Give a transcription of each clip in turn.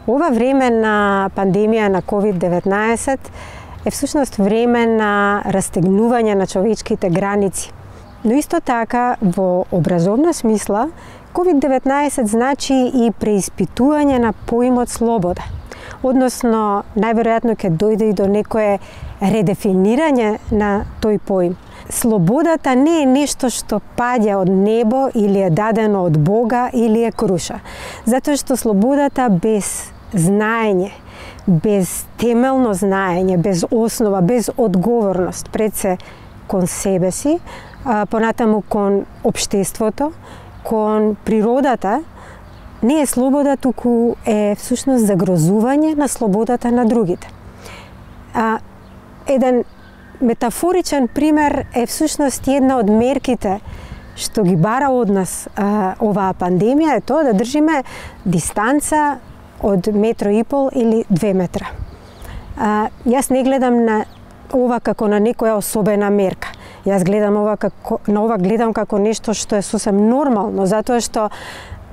Ова време на пандемија на COVID-19 е всушност време на растегнување на човечките граници. Но исто така, во образовна смисла, COVID-19 значи и преиспитување на поимот слобода. Односно, најверојатно ќе дојде и до некое редефинирање на тој поим. Слободата не е нешто што паѓа од небо или е дадено од Бога или е круша. Затоа што слободата без знаење, без темелно знаење, без основа, без одговорност пред се кон себе си, понатаму кон општеството, кон природата, не е слобода, туку е всушност загрозување на слободата на другите. Еден метафоричен пример е всушност една од мерките што ги бара од нас оваа пандемија, е тоа да држиме дистанца од 1,5 метра или 2 метра. Јас не гледам на ова како на некоја особена мерка. Јас гледам ова како нешто што е сосем нормално, затоа што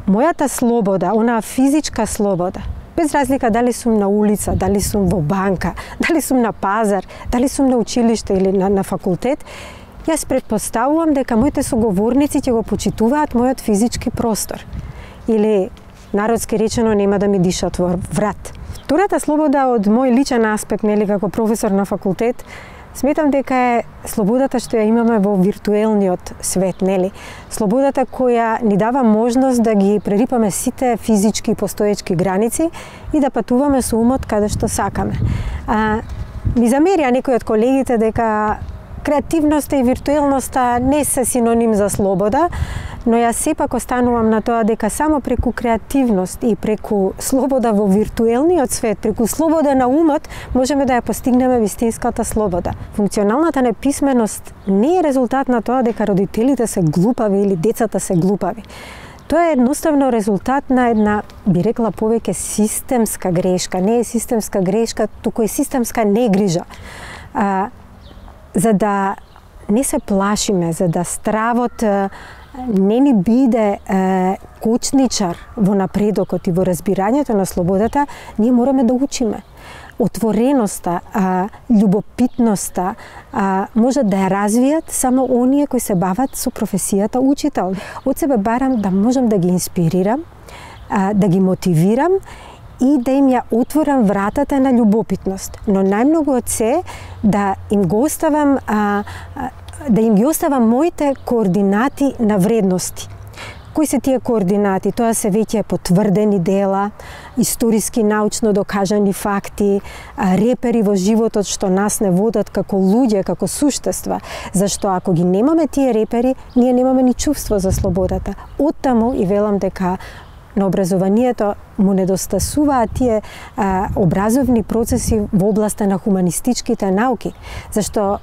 мојата слобода, онаа физичка слобода, без разлика дали сум на улица, дали сум во банка, дали сум на пазар, дали сум на училиште или на факултет, јас претпоставувам дека моите соговорници ќе го почитуваат мојот физички простор. Или, народски речено, нема да ми дишат во врат. Втората слобода од мој личен аспект, нели, како професор на факултет, сметам дека е слободата што ја имаме во виртуелниот свет, нели? Слободата која ни дава можност да ги прерипаме сите физички и постоечки граници и да патуваме со умот каде што сакаме. Ми замерија некои од колегите дека креативноста и виртуелноста не се синоним за слобода, но јас сепак останувам на тоа дека само преку креативност и преку слобода во виртуелниот свет, преку слобода на умот, можеме да ја постигнеме вистинската слобода. Функционалната неписменост не е резултат на тоа дека родителите се глупави или децата се глупави. Тоа е едноставно резултат на една, би рекла повеќе, системска грешка. Не е системска грешка, туку е системска негрижа. За да не се плашиме, за да стравот не ни биде кочничар во напредокот и во разбирањето на слободата, ние мораме да учиме. Отвореноста, љубопитноста може да ја развијат само оние кои се бават со професијата учител. Од себе барам да можам да ги инспирирам, да ги мотивирам и да им ја отворам вратата на љубопитност. Но најмногу од се да им ги оставам моите координати на вредности. Кои се тие координати? Тоа се веќе потврдени дела, историски научно докажани факти, репери во животот што нас не водат како луѓе, како суштества. Зашто ако ги немаме тие репери, ние немаме ни чувство за слободата. Оттаму и велам дека на образованието му недостасуваат тие образовни процеси во областа на хуманистичките науки, зашто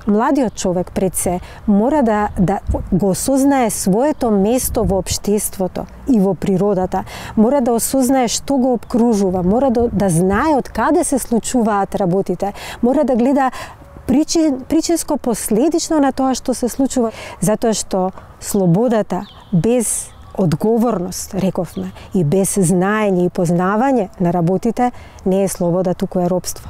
младиот човек пред се мора да го осознае своето место во општеството и во природата, мора да осознае што го обкружува, мора да знае од каде се случуваат работите, мора да гледа причинско последично на тоа што се случува, затоа што слободата без одговорност, рековме, и без знаење и познавање на работите не е слобода, туку е робство.